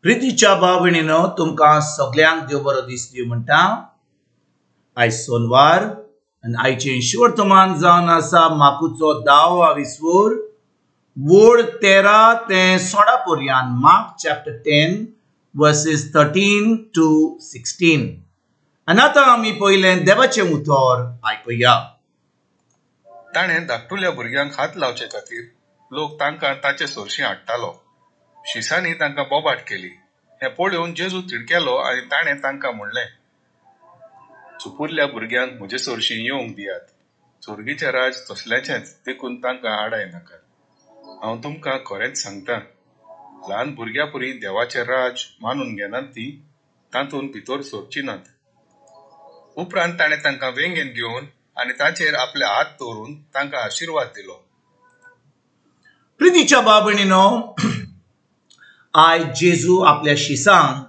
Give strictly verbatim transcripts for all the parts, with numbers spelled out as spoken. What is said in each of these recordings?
प्रितीच्या भाव भयणीनो, तुमकां सगल्यांक देव बरो दीस दिवं म्हणटा. आयज सोनवार आनी आयचें वर्तमान जावन आसा माकुचो दावो विस्वूर वोड तेरा ते सोळा पर्यान. Mark chapter ten verses thirteen to sixteen. आनी आतां आमी पयलें देवाचें उतर आयकुया. ताणें धाकटुल्या भुरग्यांक हात लावचे खातीर लोक तांकां ताचे सरशीं हाडटालो. शिसांनी तांकां बोबाट केली. हें पळोवन जेजू तिडकेलो आनी ताणें तांकां म्हणलें, सुपुरल्या भुरग्यांक म्हजे सरशीं येवंक दियात. स्वर्गीचें राज तसल्याचेंच, देखून तांकां आडाय नाकात. हांव तुमकां खरेंच सांगता, ल्हान भुरग्यां परी देवाचें राज मानून घेनात तीं तातूंत भितर सरचीं नात. उपरांत ताणें तांकां वेंगेंत घेवन आनी ताचेर आपले हात दवरून तांकां आशिर्वाद दिलो. प्रितीच्या भाव भयणीनो, आयज जेजू आपल्या शिसांक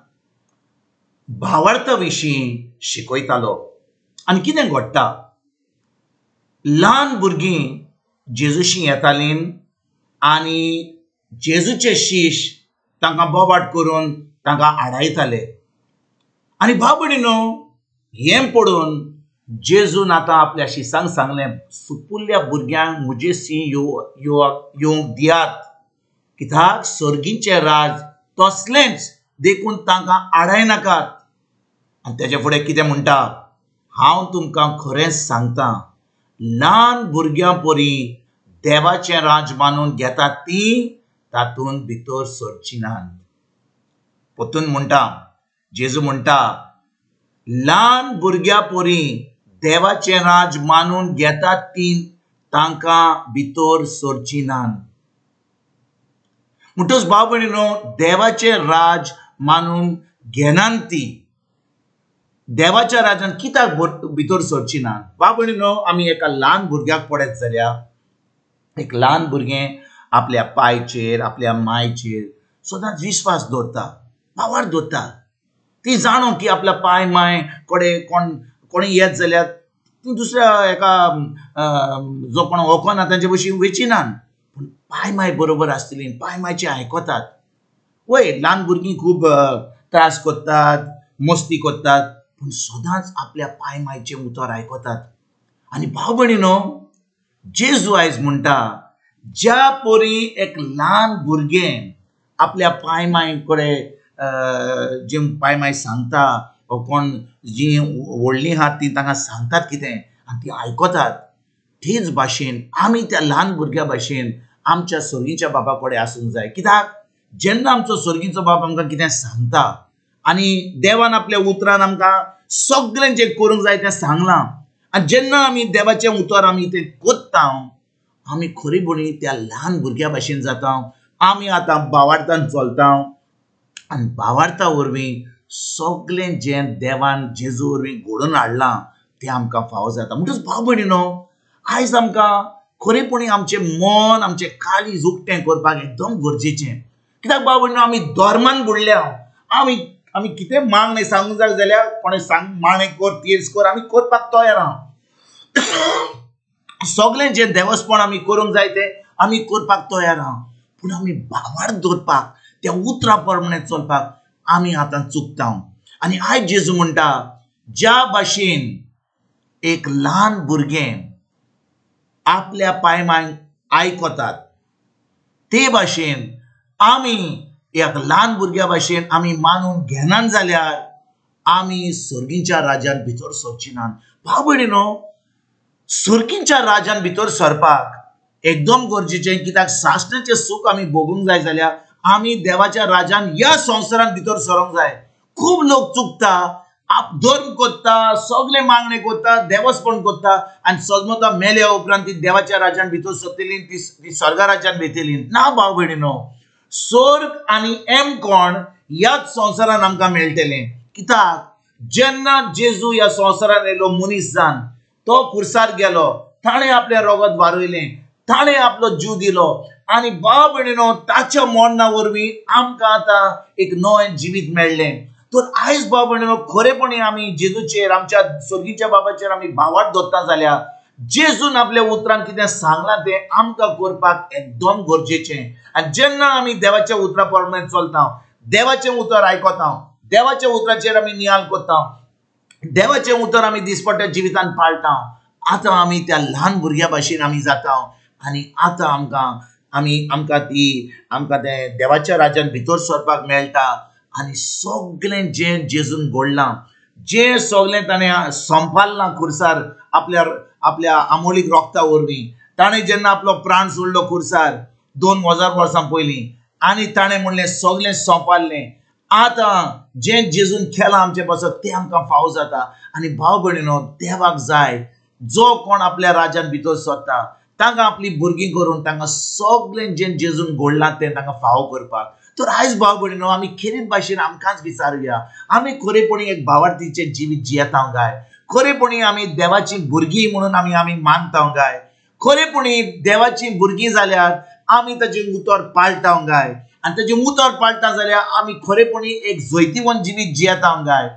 भावार्था विशीं शिकयतालो. आनी कितें घडटा, ल्हान भुरगीं जेजूशी येतालीं आनी जेजूचे शीश तांकां बोबाट करून तांकां आडायताले. आनी भाव भयणीनो, हें पळोवन जेजून आतां आपल्या शिसांक सांगलें, सुपुल्ल्या भुरग्यांक म्हजेशी येवंक दियात, कित्याक सर्गीचें राज तसलेंच, देखून तांकां आडाय नाकात. आनी तेजे फुडें कितें म्हणटा, हांव तुमकां खरेंच सांगता, ल्हान भुरग्यां परी देवाचें राज मानून घेतात तीं तातूंत भितर सरचीं नात. परतून म्हणटा, जेजू म्हणटा, ल्हान भुरग्यां परी देवाचें राज मानून घेतात तीं तांकां भितर सरचीं नात. म्हणटच भाव भयणीनो, देवाचें राज मानून घेनात ती देवाच्या राजान कित्याक भितर सरची ना? भाव भयणीनो, आमी एका ल्हान भुरग्याक पळयत जाल्यार एक ल्हान भुरगें आपल्या पायचेर आपल्या मायचेर सदांच विस्वास दवरता, पावर दवरता. ती जाणो की आपल्या पाय माय कडेन कोण कोणी येत जाल्यार ती दुसऱ्या एका जो कोण वळखना तांचे भशेन वयची ना, पूण पाय माय बरोबर आसतली, पाय मायचें आयकतात. वय ल्हान भुरगीं खूब त्रास करतात, मस्ती करतात, पूण सदांच आपल्या पाय मायचें उतर आयकतात. आनी भाव भयणीनो, जेजू आयज म्हणटा, ज्या परी एक ल्हान भुरगें आपल्या पाय माय कडेन जे पाय माय सांगता वो कोण जीं व्हडलीं आहात तीं तांकां सांगतात कितें आनी तीं आयकतात, तेच भाशेन आमी त्या ल्हान भुरग्या भाशेन आमच्या सर्गीच्या बापा कडेन आसूंक जाय. कित्याक जेन्ना आमचो सर्गीचो बाप आमकां कितें सांगता आनी देवान आपल्या उतरान आमकां सगळें जें करूंक जाय तें सांगलां, आनी जेन्ना आमी देवाचें उतर आमी तें करता, आमी खरेपणी त्या ल्हान भुरग्या भाशेन जाता. आमी आतां भावार्थान चलता आनी भावार्था वरवीं सगळें जें देवान जेजू वरवीं घडोवन हाडलां तें आमकां फावो जाता. म्हणटच भाव भयणीनो, आयज आमकां खरेपणी आमचें मन आमचें काळीज उक्तें करपाक एकदम गरजेचें. कित्याक भाव भयणीनो, आमी धर्मान बुडल्या. आमी आमी कितें मागणें सांगूंक जाय जाल्यार कोणें सांग मागणें कर तीर्स कर, आमी करपाक तयार आहा. सगळें जें देवस्पण आमी करूंक जाय तें आमी करपाक तयार आहा, पूण आमी भावार्थ दवरपाक त्या उतरा प्रमाणे चलपाक आमी आतां चुकता. आनी आयज जेजू म्हणटा, ज्या भाशेन एक ल्हान भुरगें आपल्या पाय मायक आयकतात ते भाशेन आमी एक ल्हान भुरग्या भाशेन आमी मानून घेनात जाल्यार आमी सर्गीच्या राजान भितर सरची नात. भाव भयणीनो, सर्गीच्या राजान भितर सरपाक एकदम गरजेचें, कित्याक सासणाचें सूख आमी भोगूंक जाय जाल्यार आमी देवाच्या राजान ह्या संवसारान भितर सरोंक जाय. खूब लोक चुकता, आप धर्म करता, सगळे मागणे करता, देवस्पण करता आनी सजमता मेल्या उपरांत ती देवाच्या राजान भितर सरतली, ती स्वर्गा राज्यान वयतली ना. भाव भयणीनो, स्वर्ग आनी एम कोण ह्याच संवसारान आमकां मेळटलें. कित्याक जेन्ना जेजू ह्या संवसारान येयलो मनीस जावन, तो खुर्सार गेलो, ताणें आपलें रगत वारयलें, ताणें आपलो जीव दिलो आनी भाव भयणीनो, ताच्या मरणा वरवीं आमकां आतां एक नवें जिवीत मेळ्ळें. तर आयज भाव भयणीनो, खरेपणी आमी जेजूचेर आमच्या सर्गीच्या बाबाचेर आमी भावार्थ दवरता जाल्यार जेजून आपल्या उतरान कितें सांगलां तें आमकां करपाक एकदम गरजेचें. आनी जेन्ना आमी देवाच्या उतरा प्रमाणे चलता, देवाचें उतर आयकता, देवाच्या उतराचेर आमी नियाल करता, देवाचें उतर आमी दिसपट्ट्या जिवितान पाळटा. आतां आमी त्या ल्हान भुरग्या भाशेन आमी जाता आनी आतां आमकां आमी आमकां ती आमकां तें देवाच्या राज्यान भितर सरपाक मेळटा. आनी सगळें जें जेजून घडलां, जें सगळें ताणें संपाडलां खुर्सार आपल्या आपल्या आमोलीक रोगता वरवीं, ताणें जेन्ना आपलो प्राण सोडलो खुर्सार दोन हजार वर्सां पयलीं आनी ताणें म्हणलें सगळें सोंपाडलें. आतां जें जेजून केलां आमचे पासत तें आमकां फावो जाता. आनी भाव भयणीनो, देवाक जाय जो कोण आपल्या राज्यान भितर सरता तांकां आपली भुरगीं करून तांकां सगळें जें जेजून घडलां तें तांकां फावो करपाक. तर आयज भाव भयणीनो, आमी खेरीत भाशेन आमकांच विचारुया, आमी खरेपणी एक भावार्थीचें जिवीत जियेता काय? खरेपणी आमी देवाची भुरगीं म्हणून आमी आमी मानता काय? खरेपणी देवाची भुरगीं जाल्यार आमी ताचें उतर पाळटा काय? आनी ताचें उतर पाळटा जाल्यार आमी खरेपणी एक जैतिवंत जिवीत जियेता काय?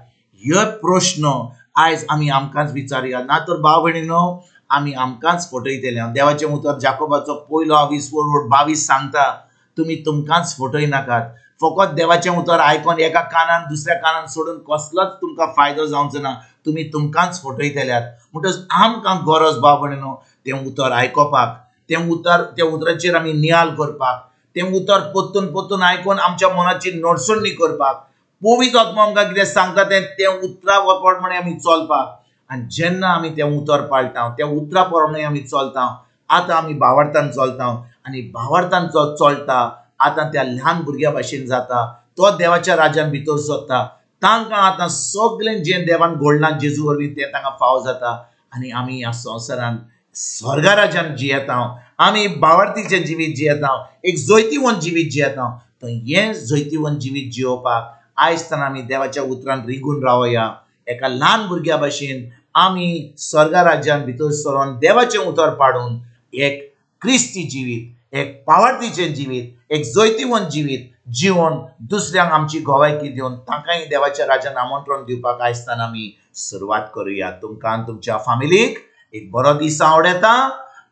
हे प्रश्न आयज आमी आमकांच विचारुया. ना तर भाव भयणीनो, आमी आमकांच फटयतले. देवाचें उतर जाकोबाचो पयलो वीस वोड बावीस सांगता, तुमी तुमकांच फटय नाकात. फकत देवाचें उतर आयकोन एका कानान दुसऱ्या कानान सोडून कसलोच तुमकां फायदो जावचो ना, तुमी तुमकांच फटयतल्यात. म्हणटच आमकां गरज भाव भयणीनो तें उतर आयकोपाक, तें उतर त्या उतराचेर आमी नियाल करपाक, तें उतर परतून परतून आयकून आमच्या मनाची नडसणी करपाक, पवित्र आत्मो आमकां कितें सांगता तें तें उतरा प्रमाणे आमी चलपाक. आनी जेन्ना आमी तें उतर पाळटा, त्या उतरा प्रमाणे आमी चलता, आतां आमी भावार्थान चलता आनी भावार्थान जो चलता आतां त्या ल्हान भुरग्या भाशेन जाता, तो देवाच्या राज्यान भितर सरता. तांकां आतां सगळें जें देवान घडलां जेजू वरवीं तें तांकां फावो जाता. आनी आमी ह्या संवसारान स्वर्गा राज्यान जियेता, आमी भावार्थीचें जिवीत जियेता, एक जैतिवंत जिवीत जियेता. तर हें जैतिवंत जिवीत जियोवपाक आयज ताणें आमी देवाच्या उतरान रिगून रावया. एका ल्हान भुरग्या भाशेन आमी स्वर्गा राज्यान भितर सरोन देवाचें उतर पाडून एक क्रिस्ती जिवीत, एक पावार्थीचें जिवीत, एक जैतिवंत जिवीत जिवन दुसऱ्यांक आमची गवायकी दिवन तांकांय देवाच्या राज्यान आमंत्रण दिवपाक आयज ताणें आमी सुरवात करुया. तुमकां आनी तुमच्या फामिलीक एक बरो दीस आवडटा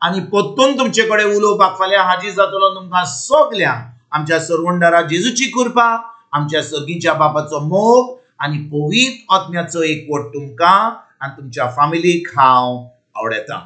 आनी परतून तुमचे कडेन उलोवपाक फाल्यां हाजीर जातलो. तुमकां सगल्यांक आमच्या सरवंडारा जेजूची कृपा, आमच्या सर्गीच्या बापाचो मोग आनी पवित्र आत्म्याचो एकवट तुमकां आनी तुमच्या फामिलीक हांव आवडटा.